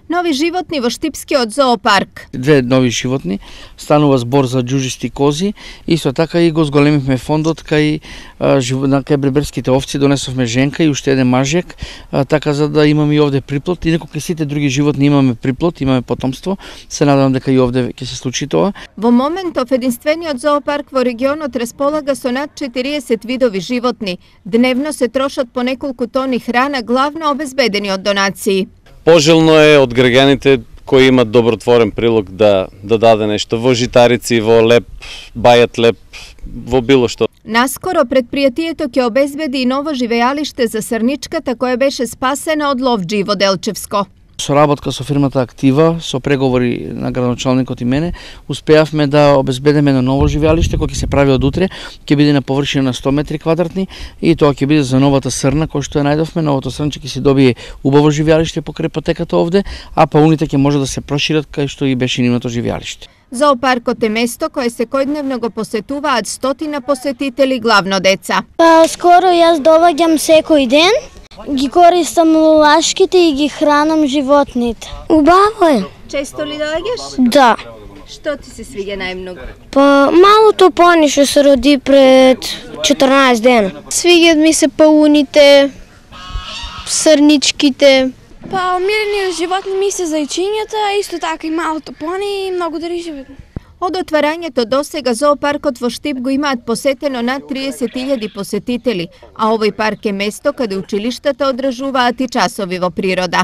Нови животни во Штипскиот зоопарк. Две нови животни, станува збор за џужисти кози, исто така и го зголемивме фондот кај бреберските овци, донесовме женка и уште еден мажек, така за да имаме и овде приплод. Инаку кај сите други животни имаме приплод, имаме потомство. Се надевам дека и овде ќе се случи тоа. Во моментов единствениот зоопарк во регионот располага со над 40 видови животни. Дневно се трошат по неколку тони храна, главно обезбедени од донации. Пожелно е од граѓаните кои имат добротворен прилог да даде нешто во житарици, во леп, бајат леп, во било што. Наскоро предпријатието ќе обезбеди и ново живеалиште за срничката која беше спасена од ловџи во Делчевско. Соработка со фирмата Актива, со преговори на градоначалникот и мене, успеавме да обезбедиме едно ново живеалиште кој ќе се прави од утре, ќе биде на површина на 100 метри квадратни и тоа ќе биде за новата срна кој што ја најдовме. Новото срнче ќе се добие убаво живеалиште покрај патеката овде, а пауните ќе може да се прошират кај што и беше нивното живеалиште. Зоопаркот е место кое секојдневно го посетуваат стотина посетители, главно деца. Скоро јас доаѓам секој ден. Ги користам лулашките и ги хранам животните. Убаво е. Често ли доаѓаш? Да. Што ти се свиѓа најмногу? Малото пони што се роди пред 14 дена. Свиѓаат ми се пауните, срничките. Мирени животни ми се зајчињата, а исто така и малото пони и многу други животни. Од отварањето досега зоопаркот во Штип го имаат посетено над 30.000 посетители, а овој парк е место каде училиштата одржуваат и часови во природа.